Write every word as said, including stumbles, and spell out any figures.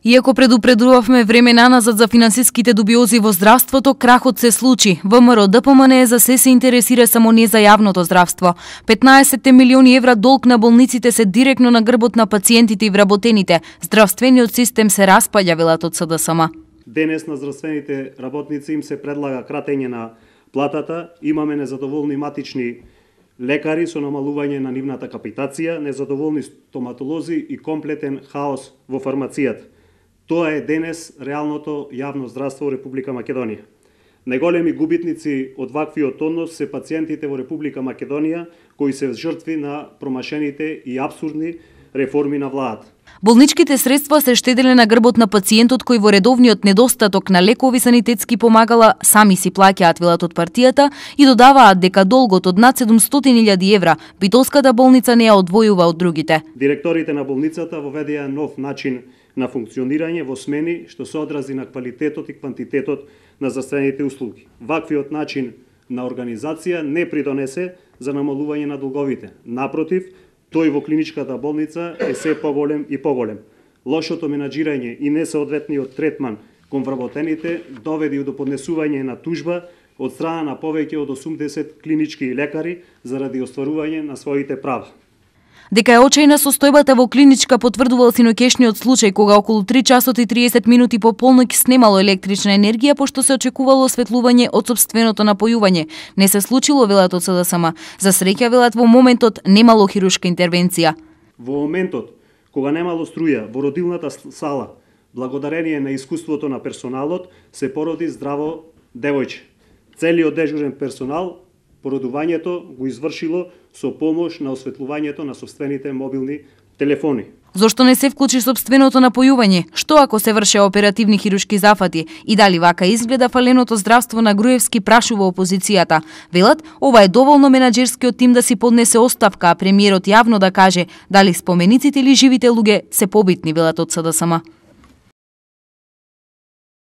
Иако предупредувавме времена назад за финансиските дубиози во здравството, крахот се случи. ВМРО Д П М Н за се се интересира само не за јавното здравство. петнаесет милиони евра долг на болниците се директно на грбот на пациентите и вработените. Здравствениот систем се распаѓа, велат од С Д С М. Денес на здравствените работници им се предлага кратење на платата, имаме незадоволни матични лекари со намалување на нивната капитација, незадоволни стоматолози и комплетен хаос во фармацијата. Тоа е денес реалното јавно здравство во Република Македонија. Најголеми губитници од ваквиот однос се пациентите во Република Македонија, кои се жртви на промашените и апсурдни реформи на владата. Болничките средства се штеделе на грбот на пациентот кој во редовниот недостаток на лекови санитетски помагала сами си плаќаат, велат од партијата, и додаваат дека долгот од над седумстотини илјади евра Битолската болница не ја одвојува од другите. Директорите на болницата воведеа нов начин на функционирање во смени што се одрази на квалитетот и квантитетот на здравствените услуги. Ваквиот начин на организација не придонесе за намалување на долговите. Напротив, тој во клиничката болница е се поголем и поголем. Лошото менаџирање и несоодветниот третман кон вработените доведи до поднесување на тужба од страна на повеќе од осумдесет клинички лекари заради остварување на своите права. Дека е очајна состојбата во клиничка потврдувал синокешниот случај кога околу три часот и триесет минути по полноќ снемало електрична енергија пошто се очекувало осветлување од сопственото напојување. Не се случило, велат од С Д С М. За среќа, велат, во моментот немало хируршка интервенција. Во моментот кога немало струја во родилната сала, благодарение на искуството на персоналот, се породи здраво девојче. Целиот дежурен персонал породувањето го извршило со помош на осветлувањето на сопствените мобилни телефони. Зошто не се вклучи сопственото напојување? Што ако се врше оперативни хируршки зафати? И дали вака изгледа фаленото здравство на Груевски, прашува опозицијата. Велат, ова е доволно менаџерскиот тим да си поднесе оставка, а премиерот јавно да каже дали спомениците или живите луѓе се побитни, велат од С Д С М.